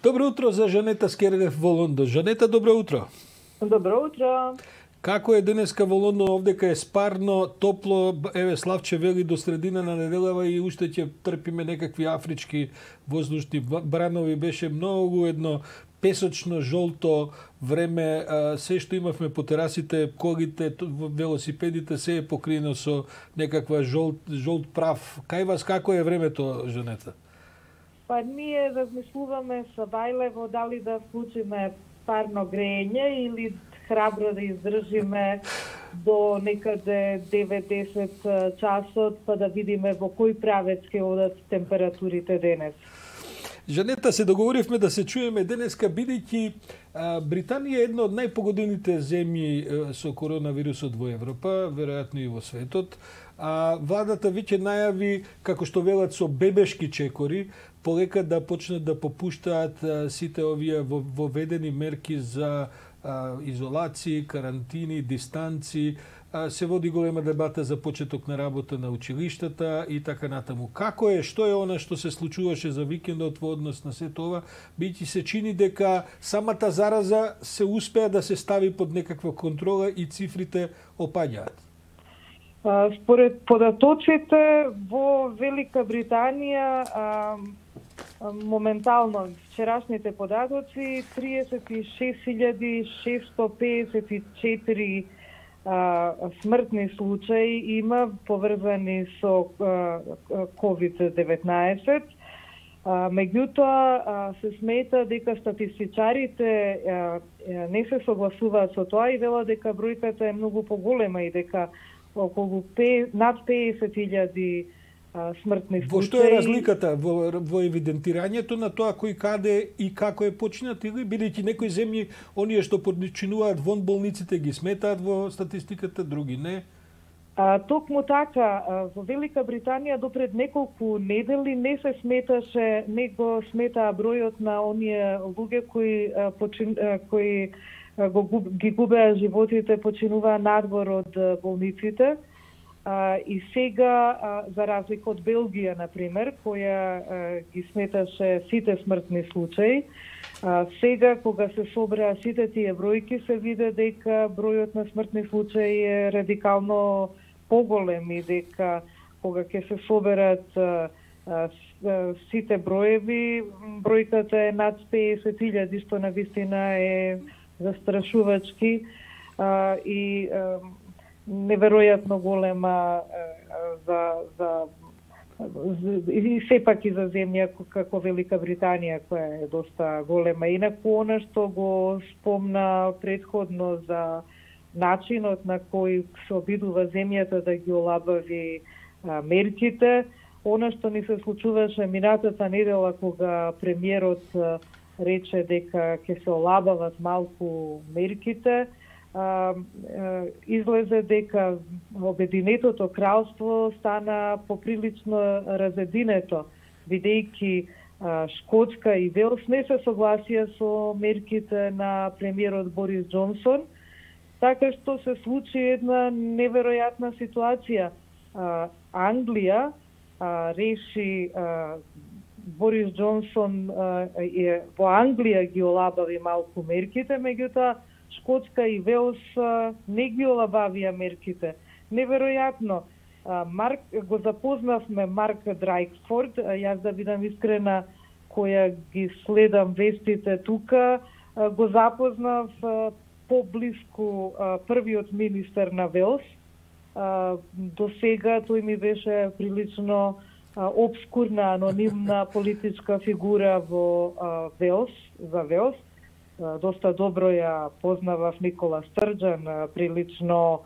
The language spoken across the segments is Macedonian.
Добро утро за Жанета Скерлев во Лондон. Жанета, добро утро. Добро утро. Како е денеска во Лондон? Овдека е спарно, топло. Еве, Славче вели до средина на неделава и уште ќе трпиме некакви афрички воздушни бранови. Беше многу едно песочно, жолто време. Се што имавме по терасите, колите, велосипедите, се е покриено со некаква жолт прав. Кај вас како е времето, Жанета? Па ние размислуваме со Вајлево дали да вклучиме парно грење или храбро да издржиме до некаде 9-10 часот, па да видиме во кој правец ќе одат температурите денес. Жанета, се договоривме да се чуеме денеска, бидејќи Британија е една од најпогодените земји со коронавирусот во Европа, веројатно и во светот. Владата веќе најави, како што велат, со бебешки чекори, полека да почнат да попуштаат сите овие воведени мерки за изолации, карантини, дистанци. Се води голема дебата за почеток на работа на училиштата и така натаму. Како е, што е она што се случуваше за викендот во однос на сето ова, бидејќи се чини дека самата зараза се успеа да се стави под некаква контрола и цифрите опаѓаат? Според податоците во Велика Британија, моментално вчерашните податоци 36.654 смртни случаи има поврзани со COVID-19. Меѓутоа, се смета дека статистичарите не се согласуваат со тоа и велат дека бројката е многу поголема и дека околу над 50.000 смртни случаи. Во што е разликата во евидентирањето на тоа кој каде и како е починат, или бидејќи некои земји оние што починуваат вон болниците ги сметаат во статистиката, други не? Токму така, во Велика Британија допред неколку недели не се сметаше, не го сметаа бројот на оние луѓе кои ги губеа животите, починуваа надвор од болниците. И сега, за разлика од Белгија, например, која ги сметаше сите смртни случаи, сега, кога се собраа сите тие бројки, се виде дека бројот на смртни случаи е радикално поголем и дека кога ќе се соберат сите броеви, бројката е над 50.000, што навистина е застрашувачки и неверојатно голема и сепак и за земја како Велика Британија, која е доста голема. Инаку, она што го спомна предходно за начинот на кој се обидува земјата да ги олабави мерките, она што ни се случуваше минатата недела кога премиерот рече дека ќе се олабават малку мерките, излезе дека Обединетото кралство стана поприлично разединето, бидејќи Шкотска и Велс не се согласија со мерките на премиерот Борис Џонсон, така што се случи една неверојатна ситуација. Англија реши, Борис Џонсон во Англија ги олабави малку мерките, меѓутоа Шкотска и Велс не ги олабавија мерките. Неверојатно. Го запознавме Марк Драйксфорд, јас да бидам искрена, која ги следам вестите тука, го запознав поблиску првиот министер на Велс. До сега тој ми беше прилично обскурна, анонимна политичка фигура во Велс, за Велс. Доста добро ја познавав Никола Стрџан, прилично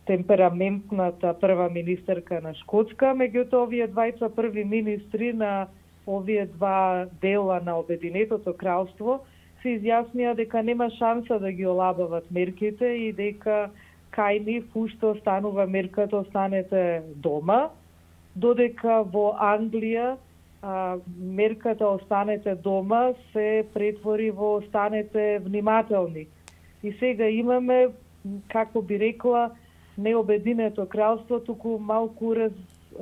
темпераментната прва министерка на Шкотска, меѓутоа овие двајца први министри на овие два дела на Обединетото кралство се изјаснија дека нема шанса да ги олабават мерките и дека кај нив уште останува мерката останете дома, додека во Англија мерката останете дома се претвори во останете внимателни. И сега имаме, како би рекла, не Обединето кралство, туку малку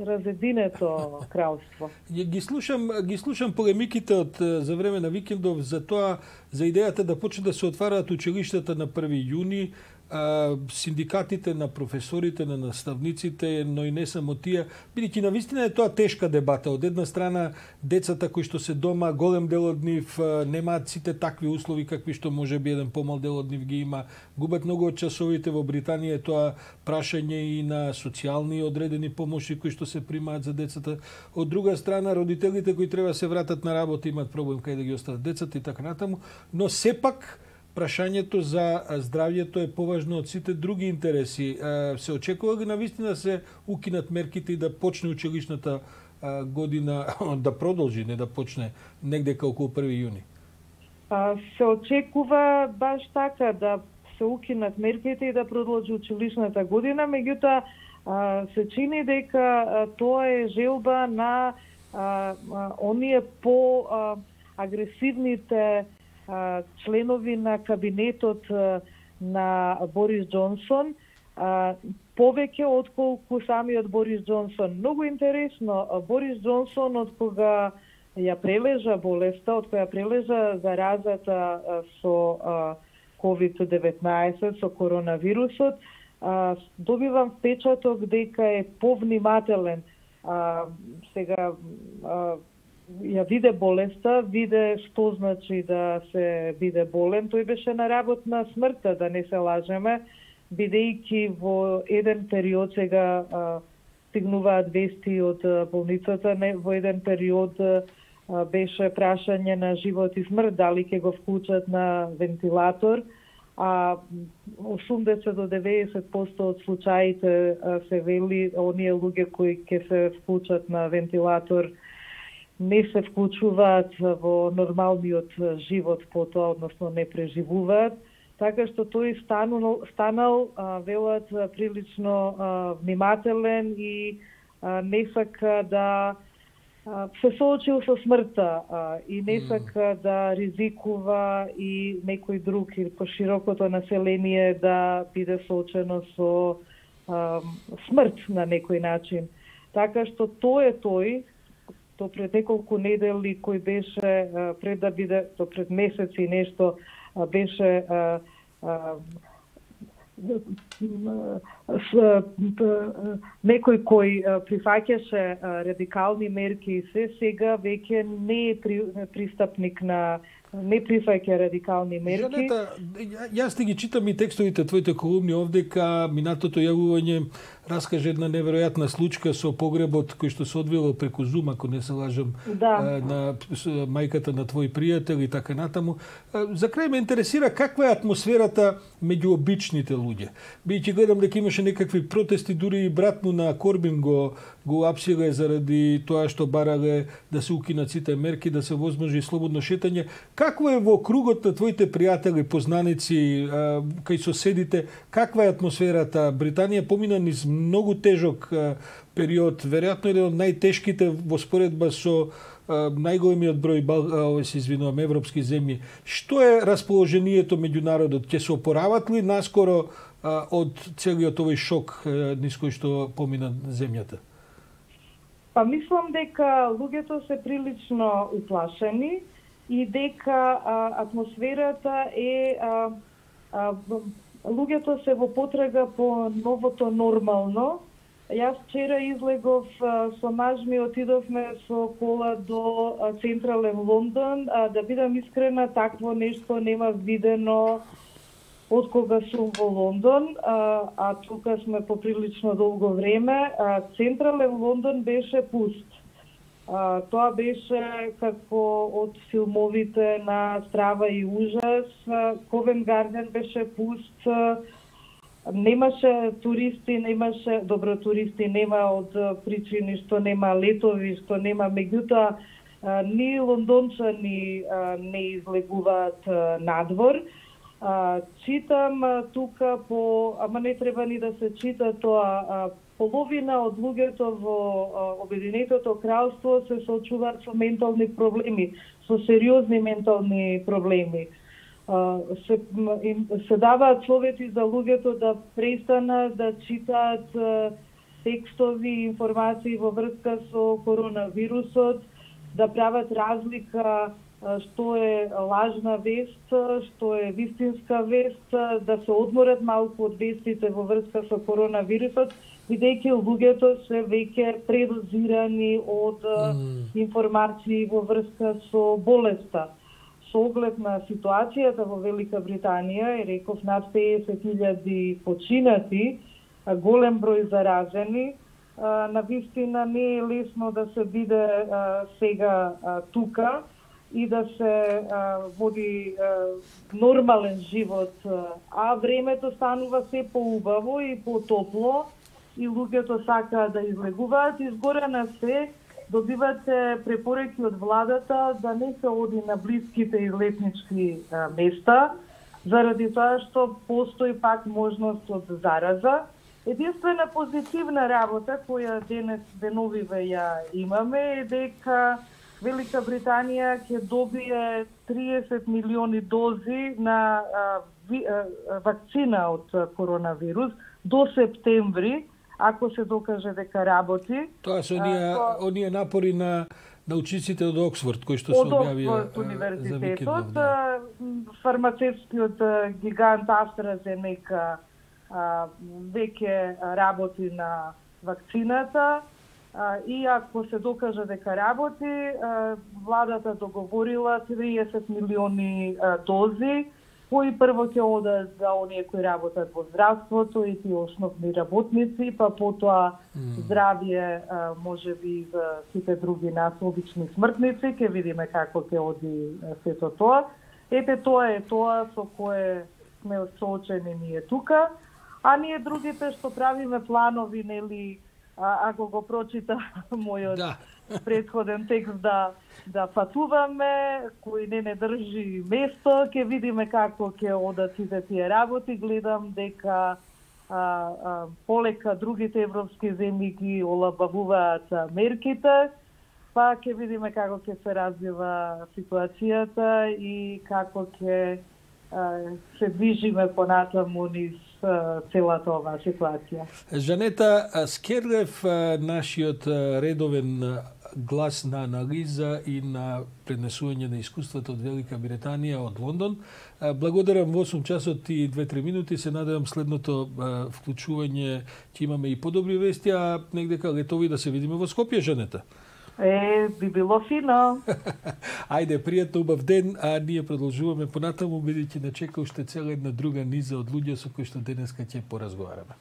разединето кралство. Ги слушам полемиките за време на викендов за тоа, за идејата да почне да се отвараат училиштата на 1 јуни, синдикатите на професорите, на наставниците, но и не само тие, бидејќи навистина е тоа тешка дебата. Од една страна, децата кои што се дома, голем дел од нив немаат сите такви услови какви што може би еден помал дел од нив ги има. Губат многу од часовите. Во Британија е тоа прашање и на социјални одредени помоши кои што се примаат за децата. Од друга страна, родителите кои треба се вратат на работа имаат проблем кај да ги остават децата и така натаму, но сепак прашањето за здравјето е поважно од сите други интереси. Се очекува ги навистина се укинат мерките и да почне училишната година, да продолжи, не да почне негде околу 1 јуни? Се очекува баш така да се укинат мерките и да продолжи училишната година, меѓутоа се чини дека тоа е желба на оние по агресивните членови на кабинетот на Борис Џонсон, повеќе отколку самиот Борис Џонсон. Многу интересно, Борис Џонсон од кога ја прележа болеста, од кога ја прележа заразата со COVID-19, со коронавирусот, добивам впечаток дека е повнимателен. Сега ја виде болеста, виде што значи да се биде болен. Тој беше на работ на смртта, да не се лажеме, бидејќи во еден период сега стигнуваат вести од болницата, во еден период беше прашање на живот и смрт, дали ќе го вклучат на вентилатор, а 80 до 90% од случаите се вели оние луѓе кои ќе се вклучат на вентилатор не се вклучуваат во нормалниот живот потоа, односно не преживуваат, така што тој станал велат прилично внимателен и не сака да се соочил со смртта и не сака да ризикува и некој друг или поширокото население да биде соочено со смрт на некој начин. Така што тој е тој, то пред неколку недели кој беше пред да биде, то пред месеци и нешто беше некој кој прифаќаше радикални мерки и се, сега веќе не е пристапник на не прифаќа радикални мерки. Жанета, јас ти ги читам и текстовите твоите колумни овдека, минатото јавување раскаже една неверојатна случка со погребот кој што се одвило преку Зум, ако не се лажам, на мајката на твој пријател и така натаму. За крај ме интересира каква е атмосферата меѓу обичните луѓе. Бидејќи гледам дека имаше некакви протести, дури и брат му на Корбин го апсиле заради тоа што барале да се укинат сите мерки, да се возможи слободно шетање. Какво е во кругот на твоите пријатели, познаници, кај соседите, каква е атмосферата? Британија помина низ многу тежок период, веројатно еден од најтешките во споредба со најголемиот број европски земји. Што е расположението меѓу народот? Ќе се опорават ли наскоро од целиот овој шок низ кој што помина земјата? Па мислам дека луѓето се прилично уплашени и дека атмосферата е луѓето се во потрага по новото нормално. Јас вчера излегов со маж ми, отидовме со кола до централен Лондон. Да бидам искрена, такво нешто нема видено од кога сум во Лондон, а тука сме поприлично долго време. Централен Лондон беше пуст. Тоа беше како од филмовите на Страва и ужас. Ковент Гарден беше пуст. Немаше туристи, добро туристи нема од причини што нема летови, што нема, меѓутоа ни лондончани не излегуваат надвор. Читам тука ама не треба ни да се чита тоа, половина од луѓето во Обединетото кралство се соочуваат со ментални проблеми, со сериозни ментални проблеми. Се даваат совети за луѓето да престанат да читаат текстови, информации во врска со коронавирусот, да прават разлика што е лажна вест, што е вистинска вест, да се одморат малку од вестите во врска со коронавирусот, бидејќи луѓето се веќе предозирани од информации во врска со болеста. Со оглед на ситуацијата во Велика Британија, реков над 50.000 починати, голем број заразени, навистина не е лесно да се биде сега тука и да се води нормален живот, а времето станува се поубаво и потопло и луѓето сакаат да излегуваат. Изгоре на се добивате препораки од владата да не се оди на блиските излетнички места, заради тоа што постои пак можност од зараза. Единствена позитивна работа која деновиве ја имаме е дека Велика Британија ќе добие 30 милиони дози на вакцина од коронавирус до септември, ако се докаже дека работи. Тоа се оние напори на научниците од Оксфорд, кои што се објавија од универзитетот. Фармацевскиот гигант AstraZeneca веќе работи на вакцината. И ако се докаже дека работи, владата договорила 30 милиони дози, кои прво ќе одат за оние кои работат во здравството и тие основни работници, па потоа здравје можеби за сите други нас обични смртници, ќе видиме како ќе оди сето тоа. Ете, тоа е тоа со кое сме соочени ние тука, а ние другите што правиме планови, нели, ако го прочита мојот предходен текст да патуваме, кој не држи место, ќе видиме како ќе одат сите тие работи. Гледам дека полека другите европски земји ги олабавуваат мерките, па ќе видиме како ќе се развива ситуацијата и како ќе се движиме понатаму низ целата оваа ситуација. Жанета Скерлев, нашиот редовен глас на анализа и на пренесување на искуството од Велика Британија, од Лондон. Благодарам во 8 часот и 2-3 минути. Се надевам следното вклучување ќе имаме и подобри вести, а негдека летови да се видиме во Скопје, Жанета. Би било фино. Ајде, пријатно, убав ден, а ние продолжуваме понатаму, бидејќи не чека уште цела една друга низа од луѓе со кои што денеска ќе поразговараме.